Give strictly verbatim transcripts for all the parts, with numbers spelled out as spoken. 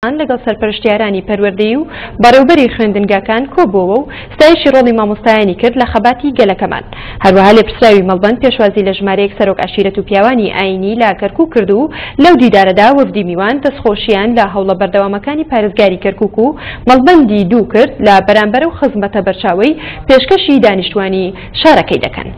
لەگەڵ سەرپەرشتیارانی پەروەردەیی و بەڕێوبەری خوێندنگاکان کۆبووەوە و ستایشی ڕۆڵی مامۆستایانی کرد لە خەباتی گەلەکەمان. هەروەها لێپرسراوی مەڵبەند پێشوازی لە ژمارەیەک سەرۆک عەشیرەت و پیاوانی ئاینی لە کەرکوک کرد و لەو دیدارەدا وەفدی میوان دەستخۆشیان لە هەوڵە بەردەوامەکانی پارێزگاری کەرکوک و مەڵبەندی دوو کرد لە بەرامبەر و خزمەتە بەرچاوەی پێشکەشی دانیشتوانی شارەکەی دەکەن.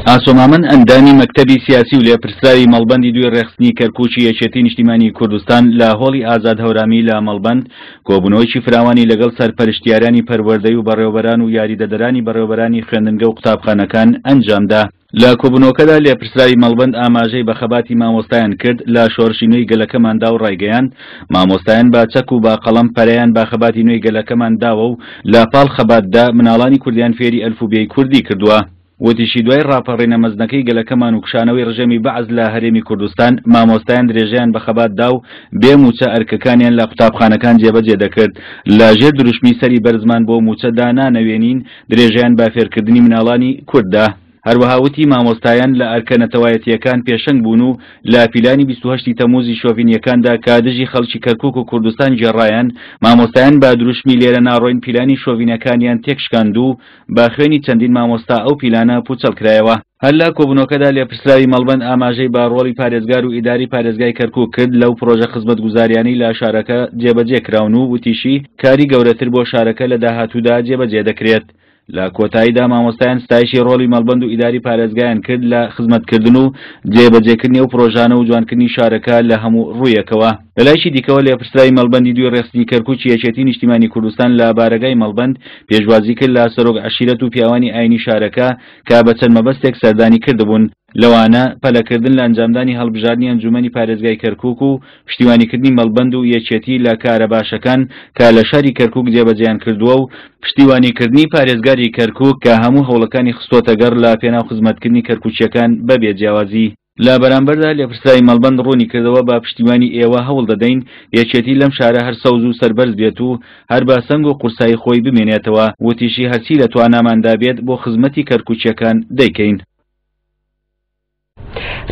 ئاسۆ مامەند ئەندامی مەکتەبی سیاسی و لێپرسراوی مەڵبەندی دووی ڕێکخستنی کەرکوکی یەکێتی نیشتیمانی کوردستان لە هۆڵی ئازاد هەورامی لە مەڵبەند کۆبوونەوەیەکی فراوانی لەگەڵ سەرپەرشتیارانی پەروەردەی و بەڕێوەبەران و یاریدەدەرانی بەڕێوەبەرانی خوێندنگە و قوتابخانەکان ئەنجامدا. لە کۆبوونەوەکەدا لێپرسراوی مەڵبەند ئاماژەی بە خەباتی مامۆستایان کرد لە شۆڕشی نوێی گەلەکەماندا و ڕایگەیاند مامۆستایان بە چەک و بە قەڵەم پەرەیان بە خەباتی نوێی گەلەکەمان داوە و لە پاڵ خەباتدا مناڵانی کوردیان فێری ئەلفوبێی کوردی کردووە. وتیشی دوای ڕاپەڕینە مەزنەکەی گەلەکەمان و کشانەوەی ڕژێمی بەعس لە هەرێمی کوردستان مامۆستایان درێژەیان بە خەبات دا و بێ موچە ئەرکەکانیان لە قوتابخانەکان جێبەجێ دەکرد. لە ژێر دروشمی سەری بەرزمان بۆ موچە دانانەوێنین درێژەیان بە فێرکردنی مناڵانی کورددا. هەروەها وتی مامۆستایان لە ئەرکە نەتەوایەتیەکان پێشەنگ بوون و لە پیلانی بیست و هەشتی تەمووزی شۆڤینیەکاندا کە دژی خەڵکی کەرکوک و کوردستان گێڕایان مامۆستایان بە دروشمی لێرە ناڕۆین پیلانی شۆڤینەکانیان تێکشکاند و بە خوێنی چەندین مامۆستا ئەو پیلانە پوچەڵ کرایەوە. هەر لە کۆبوونەوەکەدا لێپرسراوی مەڵبەند ئاماژەی بە ڕۆڵی پارێزگار و ئیداری پارێزگای کەرکوک کرد لەو پرۆژە خزمەتگوزاریانەی لە شارەکە جێبەجێ کراون و وتیشی کاری گەورەتر بۆ شارەکە لە داهاتوودا جێبەجێ دەکرێت. لە کۆتاییدا مامۆستایان ستایشی ڕۆڵی مەڵبەند و ئیداری پارێزگایان کرد لە خزمەتکردن و جێبەجێکردنی ئەو پرۆژانە و جوانکردنی شارەکە لە هەموو ڕوویەکەوە. لەلایشی دیکەوە لێپرسراوی مەڵبەندی دووی ڕێکخستنی کەرکوکی یەکێتی نیشتیمانی کوردستان لە بارەگای مەڵبەند پێشوازی کرد لە سەرۆک عەشیرەت و پیاوانی ئاینی شارەکە کە بە چەند مەبەستێک سەردانی کردبوون، لەوانە پەلەکردن لە ئەنجامدانی هەڵبژاردنی ئەنجومەنی پارێزگای کەرکوک و پشتیوانیکردنی مەڵبەند و یەکێتی لە کارە باشەکان کە لە شاری کەرکوک جێبەجێیان کردووە و پشتیوانیکردنی پارێزگاری کەرکوک کە هەموو هەوڵەکانی خستۆتە گەڕ لە پێناو خزمەتکردنی کەرکوکیەکان بەبێ جیاوازی. لە بەرامبەردا لێپرسراوی مەڵبەند ڕوونی کردەوە بە پشتیوانی ئێوە هەوڵ دەدەین یەکێتی لەم شارە هەر سەوز و سەربەرز بێت و هەر بە سەنگ و قورسایی خۆی بمێنێتەوە، وتیشی هەرچی لە تواناماندا بێت بۆ خزمەتی کەرکوکیەکان دەیکەین.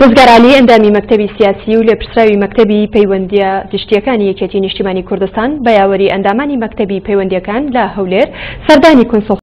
ڕزگار عەلی ئەندامی مەکتەبی سیاسی و لێپرسراوی مەکتەبی پەیوەندیە گشتیەکانی یەکێتی نیشتیمانی کوردستان بە یاوەری ئەندامانی مەکتەبی پەیوەندیەکان لە هەولێر سەردانی کونسوڵ